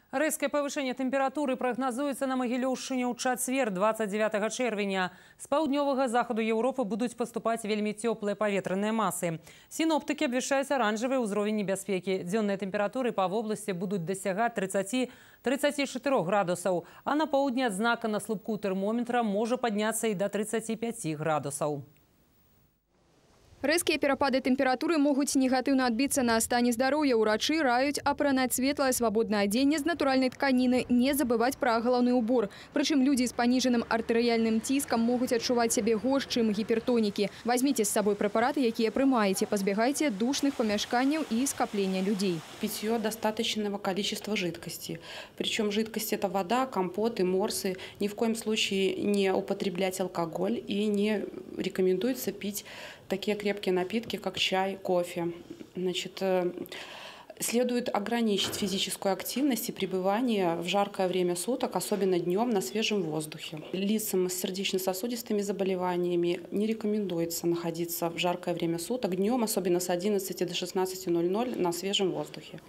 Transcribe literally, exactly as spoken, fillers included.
Рэзкае павышэнне тэмпературы прагназуецца на Магілёўшчыне ў чацвер двадцать девятого чэрвеня. З паўднёвага захаду Еўропы будуць паступаць вельмі цёплыя паветраныя масы. Сіноптыкі абвяшчаюць аранжавы ўзровень небяспекі. Дзённыя тэмпературы па вобласці будуць дасягаць тридцати — тридцати чатырох градусаў, а на поўдні адзнака на слупку тэрмометра можа падняцца і да тридцати пяти градусаў. Рэзкія перапады тэмпературы могуць негатыўна адбіцца на стане здароўя. Урачы раюць апранаць светлае свабоднае адзенне з натуральнай тканіны, не забываць пра галаўны ўбор. Прычым людзі з паніжаным артэрыяльным ціскам могуць адчуваць сябе горш, чым гіпертонікі. Вазьміце з сабой прэпараты, якія прымаеце, пазбягайце душных помяшканняў и скопления людей. Питье достаточного количества жидкости. Причем жидкость – это вода, компоты, морсы. Ни в коем случае не употреблять алкоголь и не рекомендуется пить такие крепкие напитки, как чай, кофе. Значит, следует ограничить физическую активность и пребывание в жаркое время суток, особенно днем на свежем воздухе. Лицам с сердечно-сосудистыми заболеваниями не рекомендуется находиться в жаркое время суток днем, особенно с одиннадцати до шестнадцати ноль ноль на свежем воздухе.